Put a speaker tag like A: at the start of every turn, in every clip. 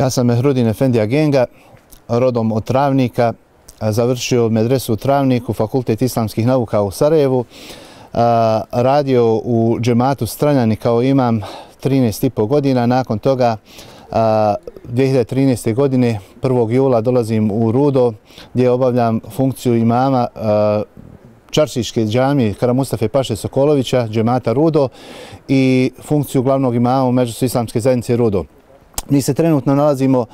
A: Ja sam Mehrudin Efendija Genga, rodom od Travnika, završio medresu u Travniku, Fakultet islamskih nauka u Sarajevu, radio u džematu Stranjani kao imam 13,5 godina. Nakon toga 2013. godine 1. jula dolazim u Rudo gdje obavljam funkciju imama Čaršiške džamije Kara Mustafe Paše Sokolovića, džemata Rudo, i funkciju glavnog imama u Medžlisu islamske zajednice Rudo. Mi se trenutno nalazimo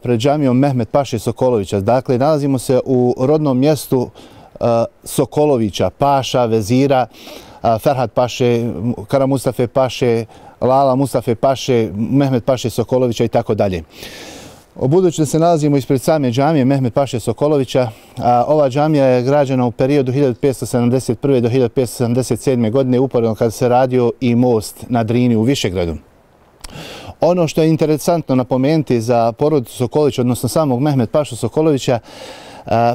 A: pred džamijom Mehmet Paše Sokolovića. Dakle, nalazimo se u rodnom mjestu Sokolovića, Paša, Vezira, Ferhat Paše, Kara Mustafe Paše, Lala Mustafe Paše, Mehmet Paše Sokolovića i tako dalje. Budući da se nalazimo ispred same džamije Mehmet Paše Sokolovića, ova džamija je građena u periodu 1571. do 1577. godine, uporedno kada se radio i most na Drini u Višegradu. Ono što je interesantno napomenuti za porodicu Sokolovića, odnosno samog Mehmet Pašu Sokolovića,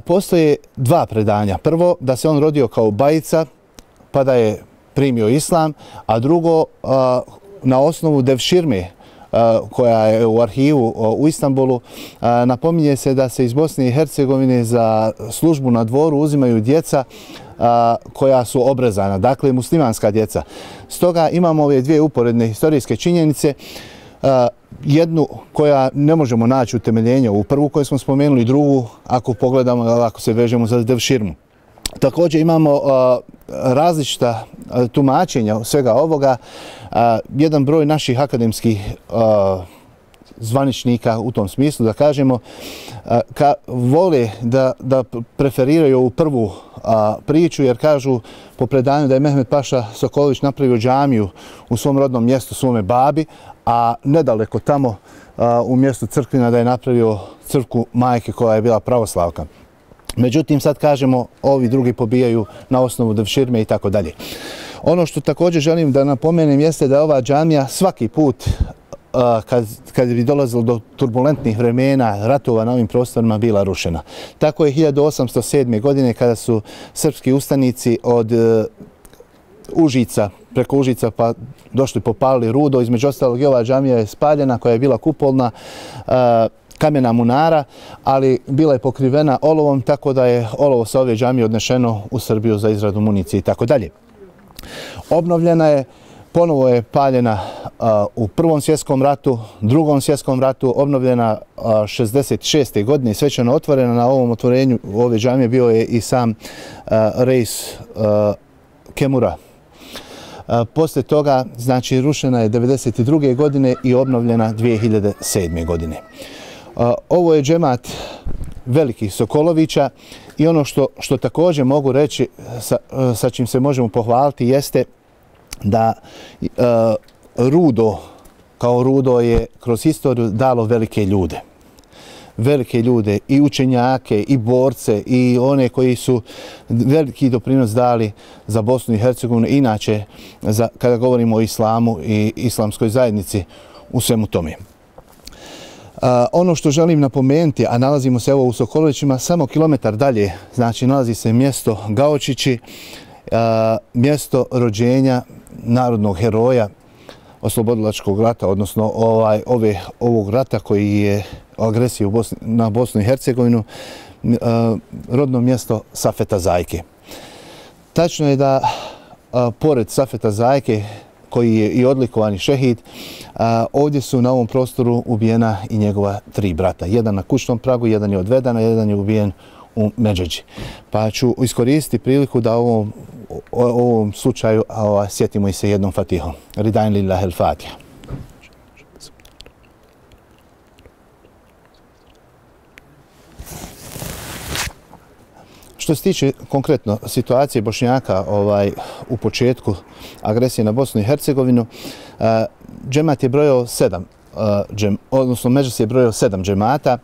A: postoje dva predanja. Prvo, da se on rodio kao bajica, pa da je primio islam, a drugo, na osnovu devširme koja je u arhivu u Istanbulu, napominje se da se iz Bosne i Hercegovine za službu na dvoru uzimaju djeca koja su obrezana, dakle muslimanska djeca. Stoga imamo ove dvije uporedne historijske činjenice, jednu koja ne možemo naći utemeljenje u prvu koju smo spomenuli, drugu ako pogledamo, ako se vežemo za devširmu. Također imamo različita tumačenja svega ovoga. Jedan broj naših akademskih zvaničnika u tom smislu, da kažemo, vole da preferiraju ovu prvu priču, jer kažu po predanju da je Mehmet Paša Sokolović napravio džamiju u svom rodnom mjestu, svome babi, a nedaleko tamo u mjestu Crkvina da je napravio crkvu majke koja je bila pravoslavka. Međutim, sad kažemo, ovi drugi pobijaju na osnovu devširme i tako dalje. Ono što također želim da napomenem jeste da ova džamija svaki put kad bi dolazilo do turbulentnih vremena, ratova na ovim prostorima, bila rušena. Tako je 1807. godine kada su srpski ustanici od Užica, preko Užica pa došli popalili Rudo, između ostalog i ova džamija je spaljena koja je bila kupolna, kamena munara, ali bila je pokrivena olovom, tako da je olovo sa ove džamije odnešeno u Srbiju za izradu municije i tako dalje. Obnovljena je, ponovo je paljena u Prvom svjetskom ratu, Drugom svjetskom ratu, obnovljena 66. godine i svečano otvorena. Na ovom otvorenju ove džamije bio je i sam Reis Kemura. Poslije toga, znači, rušena je 1992. godine i obnovljena 2007. godine. Ovo je džemat velikih Sokolovića i ono što također mogu reći, sa čim se možemo pohvaliti, jeste da Rudo, kao Rudo, je kroz historiju dalo velike ljude. Velike ljude, i učenjake, i borce, i one koji su veliki doprinos dali za Bosnu i Hercegovinu, inače kada govorimo o islamu i islamskoj zajednici u svemu tome. Ono što želim napomenuti, a nalazimo se evo u Sokolovićima, samo kilometar dalje, znači nalazi se mjesto Gaočići, mjesto rođenja narodnog heroja oslobodilačkog rata, odnosno ovog rata koji je agresiju na Bosnu i Hercegovinu, rodno mjesto Safeta Zajke. Tačno je da pored Safeta Zajke, koji je i odlikovani šehid, ovdje su na ovom prostoru ubijena i njegova 3 brata. Jedan na kućnom pragu, jedan je odveden, a jedan je ubijen u Medžeđi. Pa ću iskoristiti priliku da u ovom slučaju sjetimo i se jednom fatihom. Ridain lillahi al-Fatiha. Što se tiče konkretno situacije Bošnjaka u početku agresije na Bosnu i Hercegovinu, džemat je brojao 7, odnosno Medžlis je brojao 7 džemata.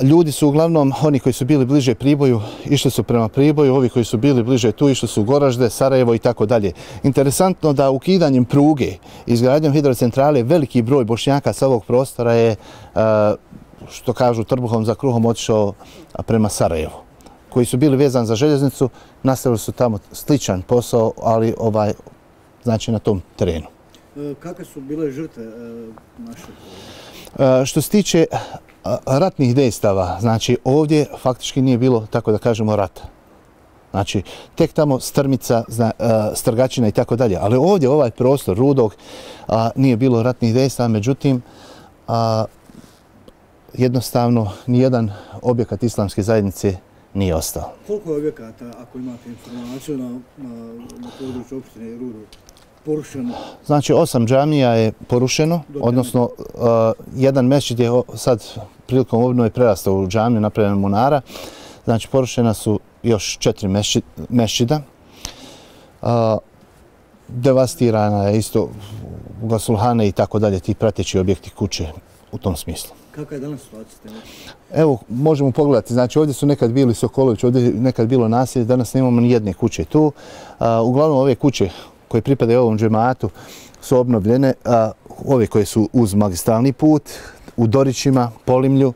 A: Ljudi su uglavnom, oni koji su bili bliže Priboju, išli su prema Priboju, ovi koji su bili bliže tu, išli su u Goražde, Sarajevo i tako dalje. Interesantno da ukidanjem pruge, izgradnjom hidrocentrale, veliki broj Bošnjaka sa ovog prostora je, što kažu, trbuhom za kruhom otišao prema Sarajevu. Koji su bili vezani za željeznicu, nastavili su tamo sličan posao, ali znači na tom terenu.
B: Kakve su bile žrtve naše?
A: Što se tiče ratnih dejstava, znači ovdje faktički nije bilo, tako da kažemo, rata. Znači, tek tamo Strmica, Strgačina i tako dalje. Ali ovdje, ovaj prostor Rudog, nije bilo ratnih dejstava, međutim, jednostavno nijedan objekat islamske zajednice nije ostao.
B: Koliko je objekata, ako imate informaciju, na području opštine Rudog porušeno?
A: Znači, 8 džamija je porušeno, odnosno jedan mesdžid je sad prilikom obnove prerastao u džamiju, napravljena munara. Znači, porušena su još 4 mesdžida. Devastirana je isto gasulhane i tako dalje, ti prateći objekti kuće u tom smislu.
B: Kakva je danas situacija?
A: Evo, možemo pogledati. Znači, ovdje su nekad bili Sokolović, ovdje je nekad bilo naselje, danas nemamo ni jedne kuće tu. Uglavnom, ove kuće koje pripadaju ovom džematu su obnovljene, ove koje su uz magistralni put, u Dorićima, Polimlju,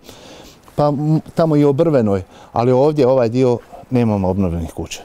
A: pa tamo i u Brvenoj, ali ovdje ovaj dio nemamo obnovljenih kuća.